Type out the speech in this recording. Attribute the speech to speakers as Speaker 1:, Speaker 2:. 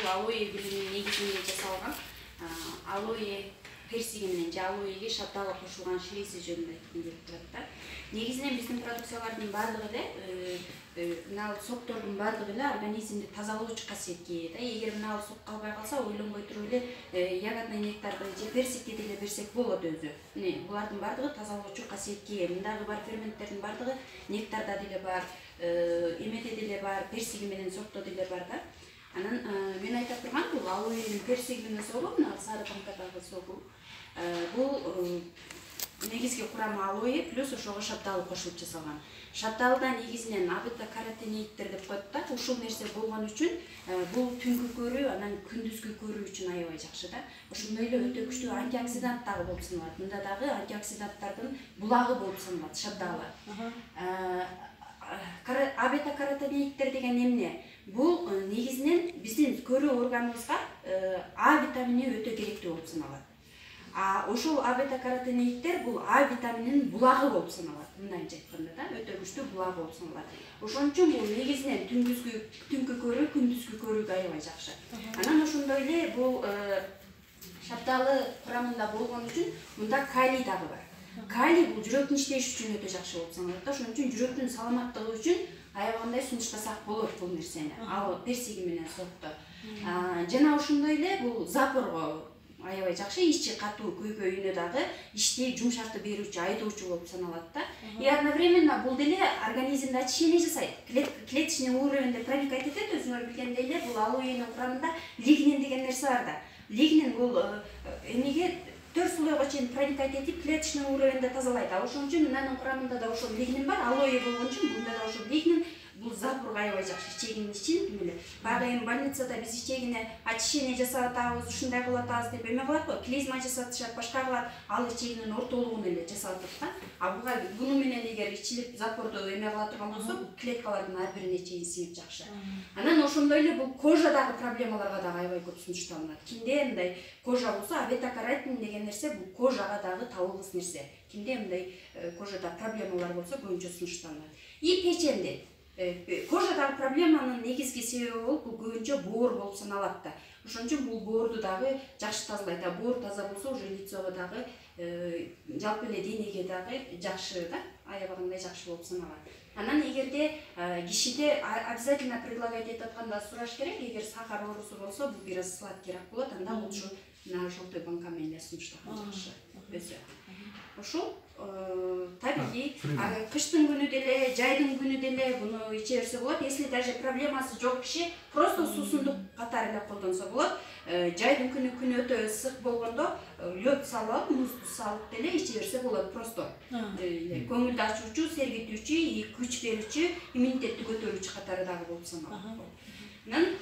Speaker 1: бул алоэ гүлүнүн негизинде жасалган алоэ персиги менен же алоэге шапталы кошулган ширеси жөнүндө айткым келип турат да. Негизинен биздин продукциялардын баардыгы эле мына соктордун баардыгы эле организмди тазалоочу касиетке ээ да. Эгер мына сок калбай калса, ойлонбой туруп эле ягодный нектарды же персикти деле берсек болот өзү. Мына булардын баардыгы тазалоочу касиетке ээ. Мындагы бар ферменттердин баардыгы нектарда деле бар, эмеде деле бар, персиги менен сокто деле бар да. Анан мен айта турган бул алоэнин персиги менен согу, мына сары банкадагы согу. Бул негизги курамы алоэ плюс ошого шапталы кошулуп жасалган. Шапталыда негизинен абета-каротеноиддер деп коет да. Ушул нерсе болгон үчүн бул түнкү көрүү, анан күндүзгү көрүү үчүн аябай жакшы да. Ошондой эле өтө күчтүү антиоксидант дагы болуп саналат. Мында дагы антиоксиданттардын булагы болуп саналат шапталы. Абета-каротеноиддер деген эмне? Бул негизинен биздин көрүү органыбызга А витамини өтө керектүү болуп саналат. Ошол абета-каротеноиддер бул А витамининин булагы болуп саналат. Мындайча айтканда да, өтө күчтүү булагы болуп саналат. Ошон үчүн бул негизинен түнкү көрүү, күндүзгү көрүүгө аябай жакшы. Анан ошондой эле бул шапталы курамында болгон үчүн мында калий дагы бар. Калий бул жүрөктүн иштеши үчүн өтө жакшы болуп саналат да. Ошон үчүн жүрөктүн саламаттыгы үчүн аябагандай сунуштасак болот бул нерсени. Ал персиги менен сокто. Жана ошондой эле бул запорго аябай жакшы, ичи катуу көйгөйүнө дагы иштей жумшартып берүүчү, айдоочу болуп саналат да. И одновременно бул деле организмде очищение жасайт. Клеточный уровеньде проникать этет, өзүңөр билгендей эле бул алоэнин курамында лигнин деген нерсе бар да. Лигнин бул эмеге 4 слойго чейин проникать этип, клеточный уровеньде тазалайт. Ошон үчүн мынанын курамында да ошол лигнин бар, алоэ болгон үчүн мында да ошол лигнин бул запорго аябай жакшы. Ичегинин ичин эле. Баягы эми больницада биз ичегине очищение жасап атабыз, ушундай кылып атабыз деп эме кылат го, клизма жасатышат, башка кылат, ал ичегинин ортолугун эле жасап атат да. Буну менен эгер ичилип запорду эме кыла турган болсо, клеткалардын ар бирине чейин сиңип жакшы. Анан ошондой эле бул кожадагы проблемаларга дагы аябай көп сунушталынат. Кимде мындай кожа болсо, абета-каротин деген нерсе бул кожага дагы табылгыс нерсе. Кимде мындай кожада проблемалар болсо, көбүнчө сунушталынат. И печенде кожадагы проблеманын негизги себеби болуп бул көбүнчө боор болуп саналат да. Ошон үчүн бул боорду дагы жакшы тазалайт. Боор таза болсо, уже лицого дагы жалпы эле денеге дагы жакшы да, аябагандай жакшы болуп саналат. Анан эгерде кишиде обязательно предлагать этип атканда сураш керек, эгер сахар оорусу болсо, бул бир аз сладкийраак болот, анда лучше на желтой банка менен сунуштаган жакшы. Өзү. Ошол табигый кыштын күнү деле, жайдын күнү деле буну иче берсе болот. Если даже проблемасы жок киши просто суусундук катары эле колдонсо болот. Жайдын күнү өтө ысык болгондо лёд салып, музду салып деле иче берсе болот. Просто көңүлдү ачуучу, сергитүүчү, күч берүүчү, иммунитетти көтөрүүчү катары дагы болуп саналат. Анан